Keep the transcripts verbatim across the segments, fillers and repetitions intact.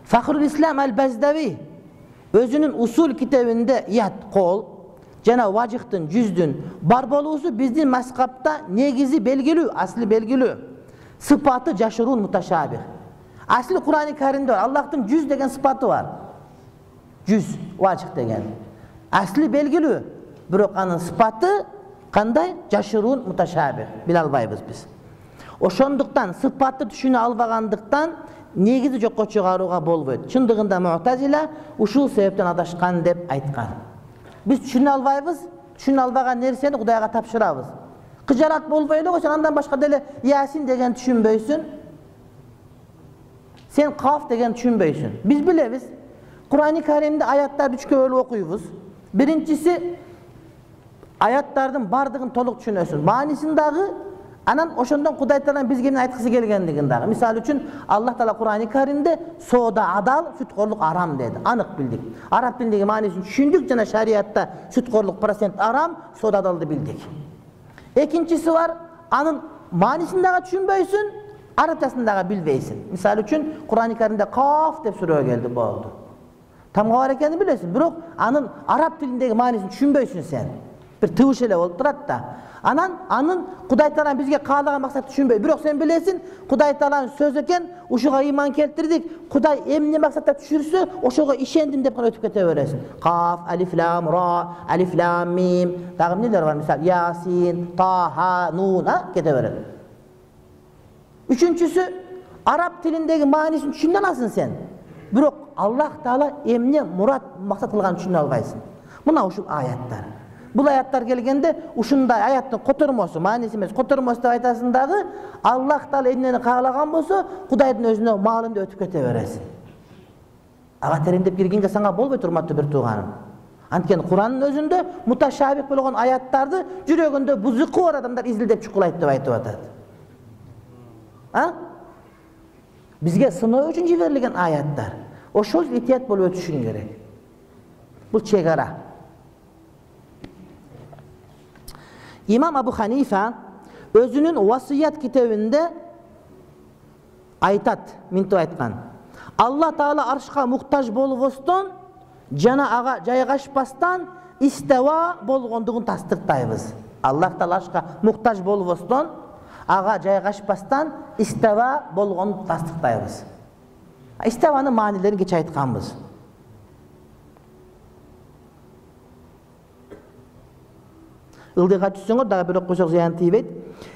Fakhrul İslam el-Bezdavi özünün usul kitabında yat kol jana vajıhtın yüzdün bar bolusu bizdin maskapta negizi belgili, asli belgili. Sıfatı jaşırun mutaşabih. Asli Kur'an-ı Kerim'de var. Allah'ın yüz degen sıfatı var. Yüz vajıht degen. Asli belgili. Bирок анын sıfatı kanday jaşırun mutaşabih. Bile albayбыз biz. Ошондуктан sıfatı түшүнө албагандыктан негизи жокко чыгарууга болбойт. Чындыгында Mu'tazila ушул себептен адашкан деп айткан. Биз түшүнө албайбыз, түшүнө албаган нерсени Кудайга тапшырабыз. Кыжарат болбой эле сен андан башка деле Ясин деген түшүнбөйсүн. Сен Каф деген түшүнбөйсүн. Биз билебиз. Kur'an-ı Kerim'de ayattарды үчкө бөлүп окуйбуз. Биринчиси аяттардын бардыгын толук түшүнөсүн. Маанисин дагы анан ошондон Кудай Таала бизге эмне айткысы келгендигин дагы. Мисалы үчүн Аллах Таала Kur'an-ı Kerim'de соода адал, сүткорлук арам деди. Анык билдик. Араб тилиндеги маанисин түшүндүк жана шариатта сүткорлук процент арам, соода адалды билдик. Экинчиси бар, анын маанисин дагы түшүнбөйсүн, арабчасын дагы билбейсиң. Мисалы үчүн Kur'an-ı Kerim'de Kaf деп сүрө келди болду. Тамга бар экенин билесиң, бирок анын араб тилиндеги маанисин түшүнбөйсүн сен. Бир тыбыш эле болуп турат да. Анан анын Кудай Таала бизге каалаган максатты түшүнбөй. Бирок сен билесиң, Кудай Тааланын сөзү экен, ушуга ыйман келтирдик. Кудай эмне максатта түшүрсө, ошого ишендим деп гана өтүп кете бересиң. Каф, алиф, лам, ра, алиф, лам, мим. Дагы эмнелер бар? Мисалы, Ясин, Таха, Нун, а кете берет. Үчүнчүсү, араб тилиндеги маанисин түшүнө аласың сен. Бирок Аллах Таала эмне мурат максат кылганын түшүнө албайсың. Мына ушул аяттар. Бул аяттар келгенде ушундай аяттын котормосу, мааниси эмес, котормосу деп айтасың дагы, Аллах Таала эмнени каалаган болсо, Кудайдын өзүнө маалым деп өтүп кете бересиң. Ага тереңдеп киргенге саңа болбойт, урматтуу бир тууганым. Анткени Кур'андын өзүндө муташабих болгон аяттарды жүрөгүндө бузуку бар адамдар изилдеп чукулайт деп айтып атат. А? Бизге сыноо үчүн жиберилген аяттар. Ошол итият болуп өтүшүң керек. Бул чек ара. İmam Abu Hanifa özünün vasiyet kitabında aytat, mintu aytkan. Allah Taala arşka muhtaç bolbostон jana aga жайгашпастан isteva болгондугун тастыктайбыз. Allah Taala arşka muhtaç bolbostон aga жайгашпастан isteva болгонун тастыктайбыз. İstevanın manilerini geç aytkanбыз. Ылдыга түссөңөр дагы бир окушок зыян тийбейт.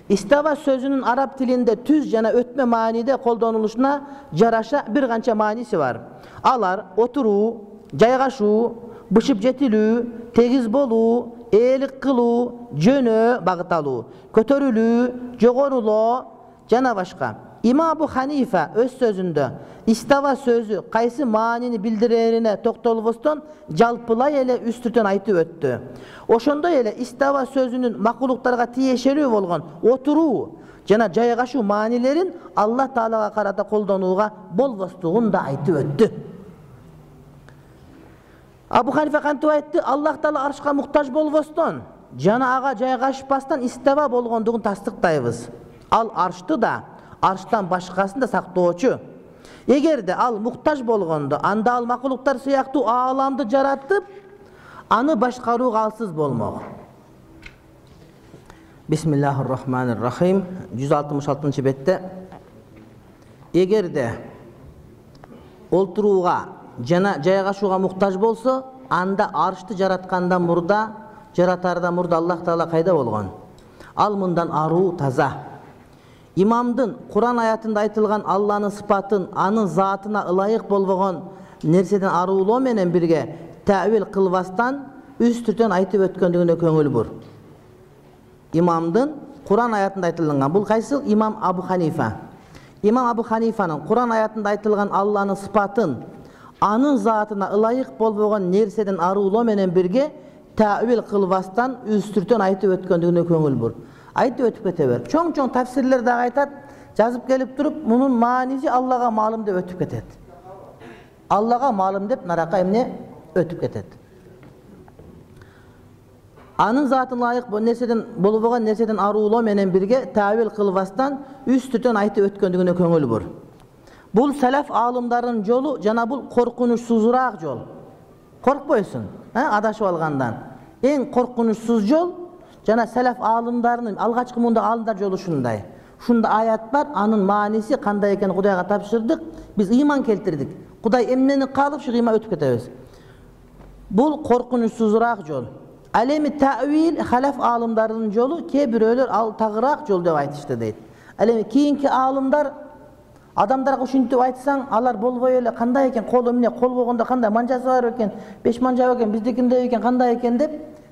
İsteva sözünün Arap tilinde tüz jana ötme manide koldanılışına jaraşa bir kança manisi var. Alar oturuu, jaygaşуу, bışıp jetilүү, tegiz bolуу, eelik kılуу, jönö bagıt alуу, kötörülүү, jogoruloo jana başka. İmam Abu Hanifa öz sözünde istava sözü kaysı manini bildirerine toktolboston jalpılay ele üstüten aytıp öttü. Oşondoy ele istava sözünün makuluklarga tiyешелүү болгон oturуу жана жайгашуу manilerin Allah Taalaga karata koldanууга bolbostugун da aytıp öttü. Abu Hanifa kantip aytты, Allah Taala arşka muhtaç bolboston jana aga жайгашпастан istava болгондугун тастыктайбыз. Al arşты da arştan başkasını da saktooçu. Эгерде ал muhtaç болгондо, анда ал макулуктар сыяктуу ааламды жаратып, аны башкарууга алсыз болмок. Bismillahirrahmanirrahim. жүз алтымыш алтынчы бетте. Эгерде олтурууга жана жайгашууга muhtaç болсо, анда аршты жараткандан мурда, жаратардан мурда Аллах Таала кайда болгон? Ал мындан аруу таза. İmamdın Kur'an ayatında aytılgan Allah'ın sıfatın, anın zatına ılayık bolbogon nerseden aruloo menen birge tavil kılbastan üstüten aytıp ötköndüğüne köngül bur. İmamdın Kur'an ayatında aytılgan, bul kaysı İmam Abu Hanifa. İmam Abu Hanifa'nın Kur'an ayatında aytılgan Allah'ın sıfatın, anın zatına ılayık bolbogon nerseden aruloo menen birge tavil kılbastan üstüten aytıp ötköndüğüne köngül bur. Aytып ötüp kete ber. Çoң-çoң tafsirler dagı aytat, жазып келип туруp, munun manisi Allah'a malum dep ötüp ketet. Аллага маалым деп наракка эмне өтүп кетет. Анын затына ылайык бул нерседен болбогон нерседен аруулоо менен бирге тавил кылбастан үстүтөн айтып өткөндүгүнө көңүл бур. Бул салаф аалымдарынын жолу жана бул коркунучсузураак жол. Коркпойсуң, адашып алгандан. Эң коркунучсуз жол жана салаф аалымдарынын алгачкы мында аалымдар жолу ушундай. Ушунда аят бар, анын мааниси кандай экенин Кудайга тапшырдык, биз ыйман келтирдик. Кудай эмнени каалап ушу ыйман өтүп кетебиз. Бул коркунучсузураак жол. Ал эми тавил халаф аалымдарынын жолу, кээ бирөөлөр ал тагыраак жол деп айтышты дейт. Ал эми кийинки аалымдар адамдарга ушинтип айтсаң, алар болбой эле кандай экен, кол эмне, кол болгондо кандай манжасы бар экен, беш манжа экен, биздикиндей экен, кандай экен деп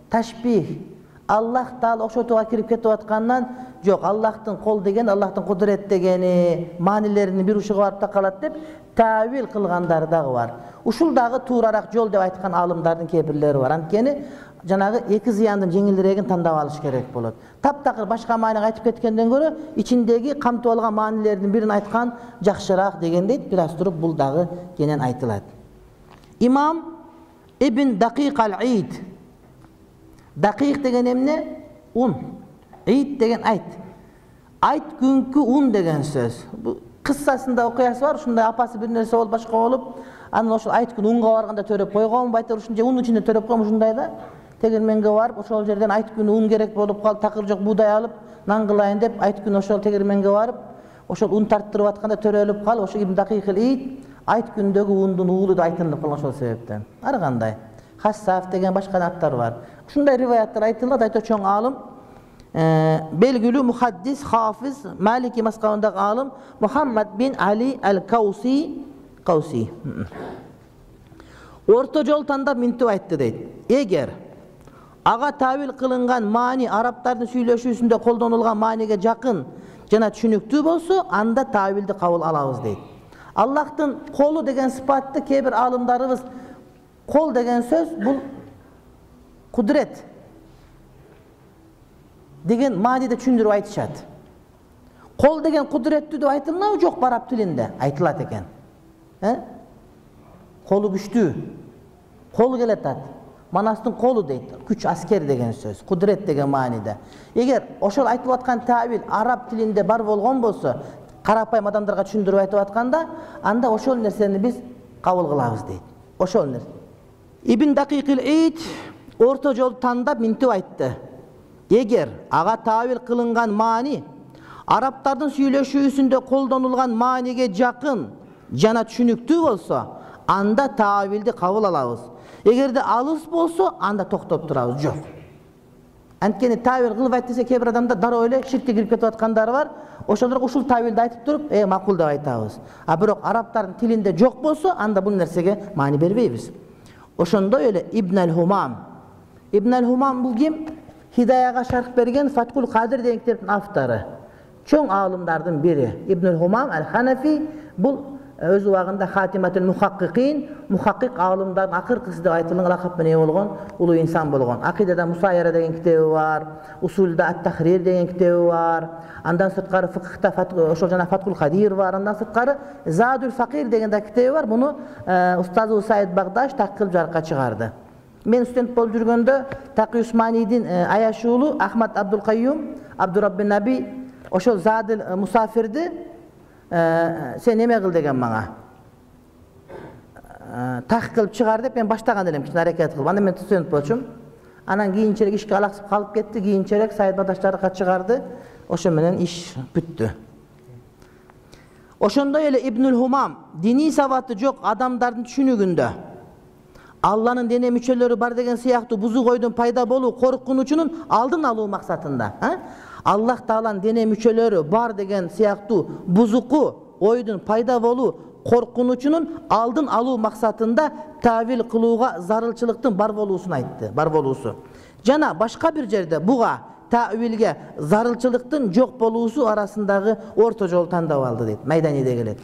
ташбих, Аллах таала окшотууга кирип кетип аткандан, жок, Аллахтын кол деген, Аллахтын кудурет дегени маанилеринин бир ушуга барып такалат деп тавил кылгандар дагы бар. Ушул дагы туурараак жол деп айткан аалымдардын кээ бирлери бар. Анткени жанагы эки зыяндын жеңилирээгин тандап алыш керек болот. Таптакыр башка мааниге айтып кеткенден көрө ичиндеги камтып алган маанилердин бирин айткан жакшыраак дегендей бир аз туруп бул дагы кенен айтылат. Имам Ибн Дакик ал-Ид. Дакик деген эмне? Un. Ид деген айт. Айт күнкү un деген сөз. Бул кыссасында окуясы бар, ушундай апасы бир нерсе болуп башка болуп, анан ошол айт күн унга барганда төрөп койгон, байтыр ушунча унун ичинде төрөп койгон ушундай да. Тегирменге барып, ошол жерден айт күн un керек болуп калып, такыр жок буудай алып, нан кылайын деп айт күн ошол тегирменге барып, ошол un тарттырып атканда төрөлүп калып, ошо Ибн Дакик ал-Ид айт күндөгү ундун уулу деп айтылып калган ошол себептен. Ар кандай. Хассаф деген башка аттар бар. Ушундай риваяттар айтылат, айта чоң аалым, белгилүү мухаддис, хафиз, Малики мазхабындагы аалым Мухаммад бин Али ал-Кауси, Кауси. Орто жол тандап минтип айтты дейт. Эгер ага тавил кылынган маани арабтардын сүйлөшүүсүндө колдонулган мааниге жакын жана түшүнүктүү болсо, анда тавилди кабыл алабыз дейт. Аллахтын колу деген сыпатты кээ бир аалымдарыбыз кол деген сөз бул кудурет деген мааниде түшүндүрүп айтышат. Кол деген кудуреттүү деп айтылмабы? Жок, араб тилинде айтылат экен. Э? Колу күчтүү. Кол келатат. Манастын колу дейт. Күч, аскер деген сөз. Кудурет деген мааниде. Эгер ошол айтылып аткан тавил араб тилинде бар болгон болсо, карапайым адамдарга түшүндүрүп айтып атканда, анда ошол нерсени биз кабыл кылабыз дейт. Ошол нерсе. Ибн Дакик ал-Ид орто жолду тандап минтип айтты. Эгер ага тавил кылынган маани арабтардын сүйлөшүүсүндө колдонулган мааниге жакын жана түшүнүктүү болсо, анда тавилди кабыл алабыз. Эгерде алыс болсо, анда токтоп турабыз. Жок. Анткени тавил кылып айт десе, кээ бир адамдар дароо эле ширкке кирип кетип аткандар бар. Ошолорго ушул тавилди айтып туруп, э макул деп айтабыз. А бирок арабтардын тилинде жок болсо, анда бул нерсеге маани бербейбиз. Ошондой эле Ибн ал-Хумам. Ибн ал-Хумам бул ким? Хидаяга шарх берген Фаткул Кадир деген китептин автору. Чоң аалымдардын бири. Ибн ал-Хумам ал-Ханафи бул өз убагында Хатиматул Мухаккикин, мухаккик аалымдардын акыркысы деп айтылган лакап менен болгон улуу инсан болгон. Акидада Мусайяра деген китеби бар, Усулда ат-Тахрир деген китеби бар. Андан сырткары фикхта ошол жана Фаткул Кадир бар. Андан сырткары Задул Факир деген да китеби бар. Муну устазы Саид Багдаш так кылып жарыкка чыгарды. Мен студент болуп жүргөндө Таки Усманийдин аяш уулу Ахмад Абдул Кайюм, Абдураббин Наби ошол Задул Мусафирди сен неме кыл деген мага. Так кылып чыгар деп мен баштаган элем, кичине аракет кылып. Анда мен студент болчумун. Анан кийинчерээк ишке алаксып калып кетти. Кийинчерээк Саид Багдаш жарыкка чыгарды. Ошо менен иш бүттү. Ошондой эле Ибн ал-Хумам диний сабаты жок адамдардын түшүнүгүндө Алланын дене мүчөлөрү бар деген сыяктуу бузук ойдун пайда болуу коркунучунун алдын алуу максатында, Аллах Тааланын дене мүчөлөрү бар деген сыяктуу бузуку ойдун пайда болуу коркунучунун алдын алуу максатында тавил кылууга зарылчылыктын бар болуусун айтты, бар болуусу. Жана башка бир жерде буга тавилге зарылчылыктын жок болуусу арасындагы орто жол тандап алды дейт. Майданиде келет.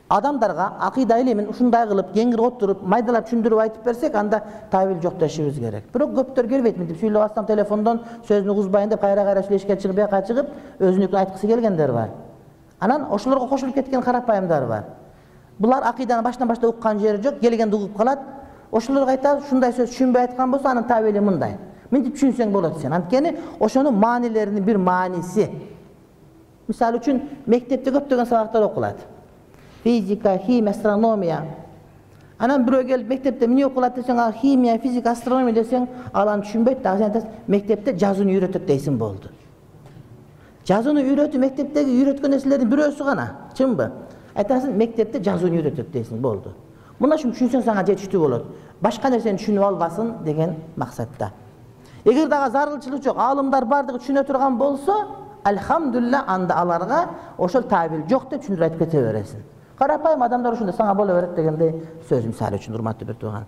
Адамдарга акыйда илимин ушундай кылып, кеңири отуруп, майдалап түшүндүрүп айтып берсек, анда тавил жок дешибиз керек. Бирок көптөр келбейт, мынтип сүйлөп атсам телефондон сөзүнү угузбайын деп кайра-кайра сүйлөшкө чыгып, бияка чыгып, өзүнүкүн айткысы келгендер бар. Анан ошолорго кошулуп кеткен карапайымдар бар. Булар акыйданы башынан баштап уккан жери жок, келгенде угуп калат. Ошолорго айтабыз, ушундай сөз түшүнбөй айткан болсо, анын табели мындай. Мынтип түшүнсөң болот сен. Анткени ошонун маанилеринин бир мааниси. Мисалы үчүн мектепте көптөгөн сабактар окулат. Физика, химия, астрономия. Анан бирөө келип мектепте эмне окулат десең, а химия, физика, астрономия десең, ал аны түшүнбөйт да. Сен айтасың, мектепте жазууну үйрөтөт дейсиң болду. Жазууну үйрөтүү мектептеги үйрөткөн нерселердин бирөөсү гана, чынбы? Айтасың, мектепте жазууну үйрөтөт дейсиң болду. Мына ушуну түшүнсөң сага жетиштүү болот. Башка нерсени түшүнүп албасын деген максатта. Эгер дагы зарылчылык жок, аалымдар бардыгы түшүнө турган болсо, алхамдулилла, анда аларга ошол табил жок деп түшүндүрүп айтып кете бересиң. Карапайым адамдар ушундай сага боло берет дегендей сөз мисалы үчүн, урматтуу бир тууган.